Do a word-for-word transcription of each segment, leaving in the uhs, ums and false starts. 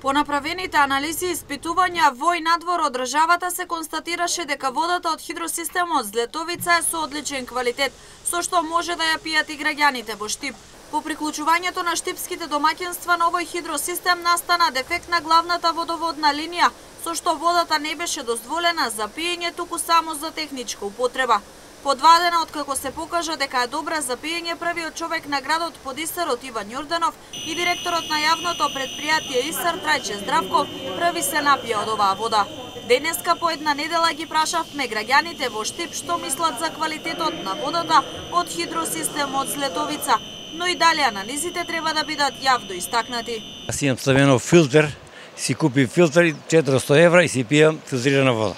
По направените анализи и испитувања во и надвор од државата се констатираше дека водата од хидросистемот Злетовица е со одличен квалитет, со што може да ја пијат и граѓаните во Штип. По приклучувањето на штипските домаќинства на овој хидросистем настана дефект на главната водоводна линија, со што водата не беше дозволена за пиење, туку само за техничка употреба. По два дена откако се покажа дека е добра за пиење, првиот човек на градот под Исарот Иван Јорданов и директорот на јавното предпријатие Исар Трајче Здравков први се напија од оваа вода. Денеска по една недела ги прашавме граѓаните во Штип што мислат за квалитетот на водата од хидросистемот Злетовица, но и дале анализите треба да бидат јавно истакнати. Аз имам ставено филтер, си купи филтер и четиристо евра и си пијам филтрирана вода.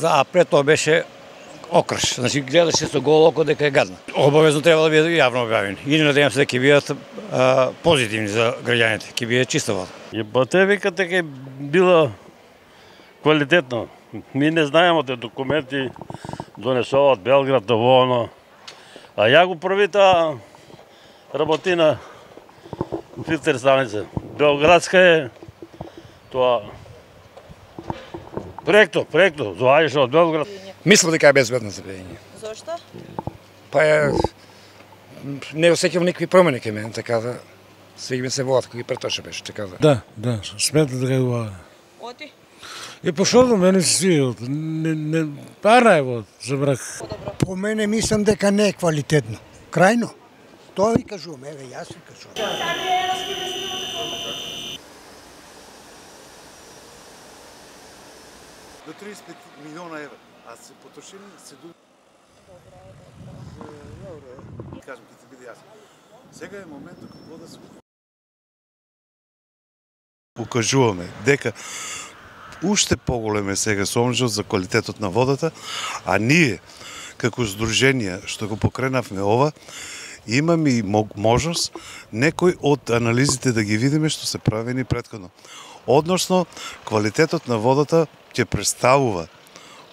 А пред тоа беше окрш, значи гледаше со голо око дека е гадна. Обавезно треба да бидат јавно објавени. И надевам се дека ќе бидат а, позитивни за граѓаните, ќе биде чиста вода. И па те викат дека била квалитетно. Ми не знаеме те документи донесуваат Белград во оно. А ја го првита работина филтер станица. Белградска е тоа проекто, проекто, доаѓаше од Белград. Мислам дека е безбедна за пиење. Зошто? Па е, не осеќам никакви промени кај мене, така да свиѓа ми се водата кој претоше беше, така да. Да, да, сметам дека е убава. Оти? Е пошто мене се свија, не не пара е вод, забрак. По мене мислам дека не е квалитетно. Крајно. Тоа ви кажувам, еве јас ви кажувам. До триесет и пет милиона евра, а се потрошени седум. Добре, кажам, ќе ти биде јасно. Сега е моментот кога да се укажуваме дека уште поголем е сега сомнежот за квалитетот на водата, а ние како здружение што го покренавме ова, имаме и можност некој од анализите да ги видиме што се правени претходно. Односно, квалитетот на водата ќе представува,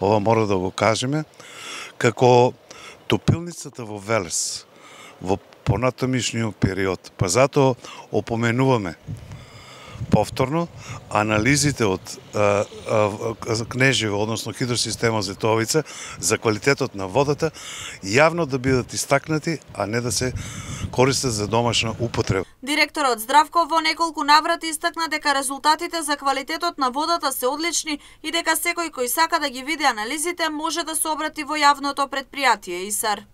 ова мора да го кажеме, како топилницата во Велес во понатамишниот период. Па затоа опоменуваме повторно анализите од а, а, Кнежево, односно хидросистемот Злетовица, за квалитетот на водата, јавно да бидат истакнати, а не да се користат за домашна употреба. Директорот Здравков во неколку наврати истакна дека резултатите за квалитетот на водата се одлични и дека секој кој сака да ги види анализите може да се обрати во јавното предпријатие Исар.